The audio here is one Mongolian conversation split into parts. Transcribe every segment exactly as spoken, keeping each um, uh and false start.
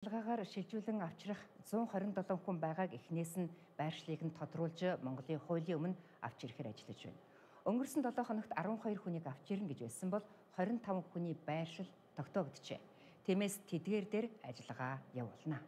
Ажиллагаагаар шилжүүлэн авчрах зуун хорин долоо хүн байгааг эхнээс нь байршлыг нь тодруулж Монголын хуулийн өмнө авч ирэхээр ажиллаж байна. Өнгөрсөн долоо хоногт арван хоёр хүнийг авч ирнэ гэж байсан бол хорин таван хүний байршил тогтоогдчихэ. Тиймээс тэдгээр дээр ажиллагаа явуулна.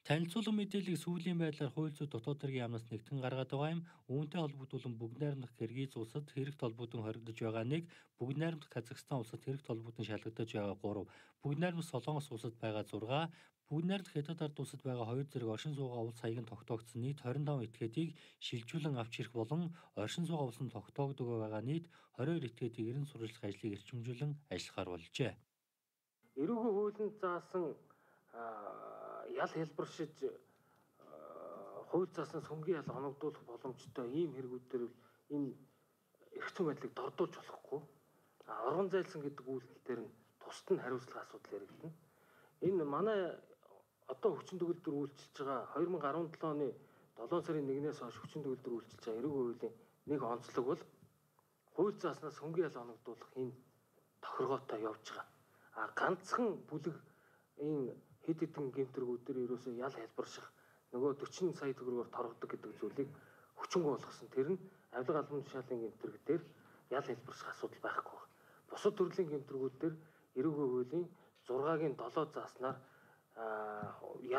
Танилцуулга мэдээллийг сүүлийн байдлаар хууль зүйн дотоод хэргийн яамнаас нэгтгэн гаргаад байгаа юм. Үүнтэй холбогдуулан бүгд найрамдах Киргиз улсад хэрэгт холбогдсон хоригдож байгаа нэг, бүгд найрамдах Казахстан улсад хэрэгт холбогдсон шалгагдаж байгаа гурав, бүгд найрамдах Солонгос улсад байгаа зургаа, бүгд найрамдах Хятад ард улсад байгаа хоёр зэрэг оршин суугаа улс хаяг нь тогтоогдсон нийт хорин таван этгээдийг шилжүүлэн авч ирэх болон оршин суугаа улс нь тогтоогдог байгаа нийт хорин хоёр этгээдийг ерэн сурвалжлах ажлыг эрчимжүүлэн ажиллахаар болжээ. Эрүүгийн хуулинд заасан ял хэлбэршиж хууль зааснаас хөнгөн ял оногдуулах боломжтой ийм хэрэгүүдээр энэ эрх зүйн байдлыг дордуулж болохгүй. Оргон зайлсан гэдэг үйлдэл дээр нь тусад нь хариуцлага асуудал яригдана. Энэ манай одоо хүчин төгөлдөр үйлчилж байгаа хоёр мың арван долоо оны долоон сарын нэгнээс хойш хүчин төгөлдөр үйлчилж байгаа эрүүгийн хуулийн нэг онцлог бол хууль зааснаас хөнгөн ял оногдуулах энэ тохиргоотой явж байгаа. А ганцхан бүлэг энэ хэд хэдэн гэмтрэгүүдээр ерөөсөө ял хэлбэрших нөгөө дөрвөн сая төгрөгөөр торгодог гэдэг зүйлийг хүчингү болгосон. Тэр нь авилга албан тушаалын гэмтрэг дээр ял хэлбэрших асуудал байхгүй байна. Бусад төрлийн гэмтрэгүүд дээр эрүүгийн хуулийн зургагийн долоо зааснаар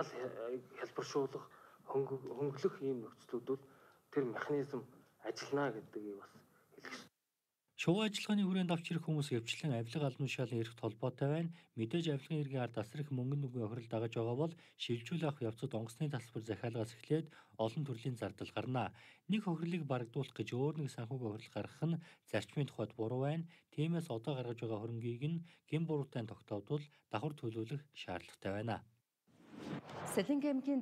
ял хэлбэршүүлэх хөнгөлөх ийм нөхцлүүд бол тэр механизм ажиллана гэдгийг бас хэлэх. Шувуу ажиллагааны хүрээнд авч ирэх хүмүүс хөвчлэн авилга албан тушаалын эрхт холбоотой байна. Мэдээж авилгын эргийн ард асар их мөнгөн нүгэн охирол дагаж байгаа бол шилжүүлэх авах явцад онгоцны тасбар захиалгаас эхлээд олон төрлийн зардал гарна. Нэг охирлыг барагдуулах гэж өөр нэг санхүүг охирол гаргах нь зарчмын тухайд буруу байна. Тиймээс одоо гаргаж байгаа хөрөнгийг нь гин буруутай тогтоодвол давхар төлөвлөх шаардлагатай байна. Сэлэнгэ аймгийн